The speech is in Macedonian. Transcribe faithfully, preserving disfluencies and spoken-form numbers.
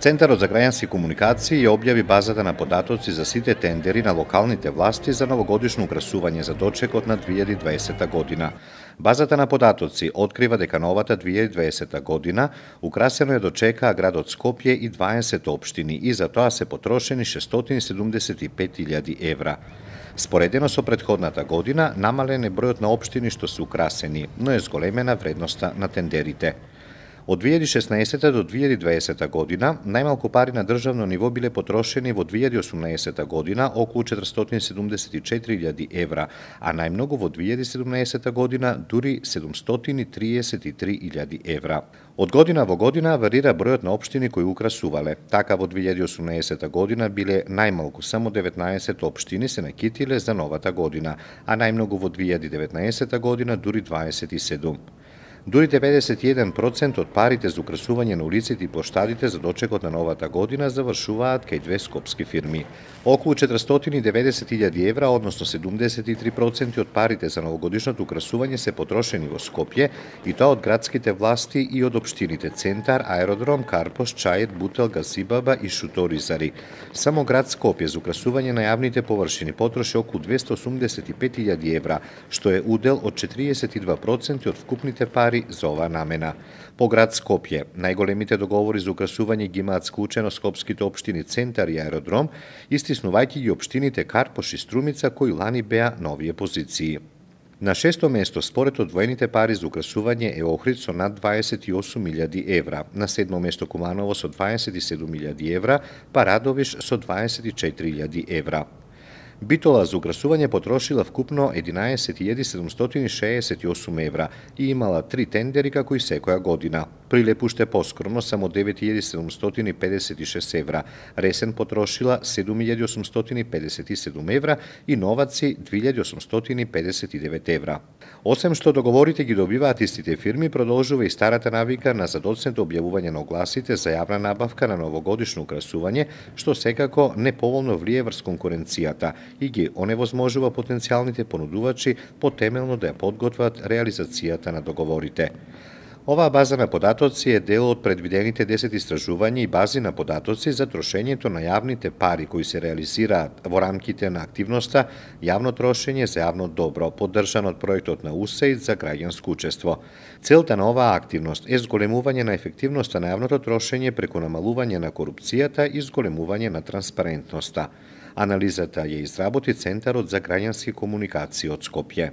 Центарот за граѓански комуникации ја објави базата на податоци за сите тендери на локалните власти за новогодишно украсување за дочекот на две илјади и дваесета година. Базата на податоци открива дека новата две илјади и дваесета година украсено е дочекаа градот Скопје и дваесет општини и за тоа се потрошени шестстотини седумдесет и пет илјади евра. Споредено со претходната година, намален е бројот на општини што се украсени, но е зголемена вредноста на тендерите. Од две илјади и шеснаесета до две илјади и дваесета година, најмалку пари на државно ниво биле потрошени во две илјади и осумнаесета година околу четиристотини седумдесет и четири илјади евра, а најмногу во две илјади и седумнаесета година дури седумстотини триесет и три илјади евра. Од година во година варира бројот на општини кои украсувале. Така во две илјади и осумнаесета година биле најмалку само деветнаесет општини се накитиле за новата година, а најмногу во две илјади и деветнаесета година дури дваесет и седум. Дури деветдесет и еден процент од парите за украсување на улиците и плоштадите за дочекот на новата година завршуваат кај две скопски фирми. Околу четиристотини и деветдесет илјади евра, односно седумдесет и три проценти од парите за новогодишното украсување се потрошени во Скопје, и тоа од градските власти и од општините Центар, Аеродром, Карпош, Чајет, Бутел, Гасибаба и Шуторизари. Само град Скопје за украсување на јавните површини потроши околу двесте осумдесет и пет илјади евра, што е удел од четириесет и два проценти од вкупните пари за оваа намена. По град Скопје, најголемите договори за украсување ги имаат склучено скопските општини Центар и Аеродром, истиснувајќи ги општините Карпош и Струмица кои лани беа на овие позиции. На шесто место според одвоените пари за украсување е Охрид со над дваесет и осум илјади евра, на седмо место Куманово со дваесет и седум илјади евра, па Радовиш со дваесет и четири илјади евра. Битола за украсување потрошила вкупно единаесет илјади седумстотини шеесет и осум евра и имала три тендери како и секоја година. Прилеп уште поскромно, само девет илјади седумстотини педесет и шест евра, Ресен потрошила седум илјади осумстотини педесет и седум евра и Новаци две илјади осумстотини педесет и девет евра. Осем што договорите ги добиваат истите фирми, продолжува и старата навика на задоцнето објавување на огласите за јавна набавка на новогодишно украсување, што секако неповолно влие врз конкуренцијата и ги оневозможува потенцијалните понудувачи потемелно да ја подготват реализацијата на договорите. Оваа база на податоци е дел од предвидените десет истражувања и бази на податоци за трошењето на јавните пари кои се реализираат во рамките на активноста јавно трошење за јавно добро, поддржан од проектот на УСАИД за граѓанско учество. Целта на оваа активност е зголемување на ефективноста на јавното трошење преку намалување на корупцијата и зголемување на транспарентноста. Анализата ја изработи Центарот за граѓански комуникации од Скопје.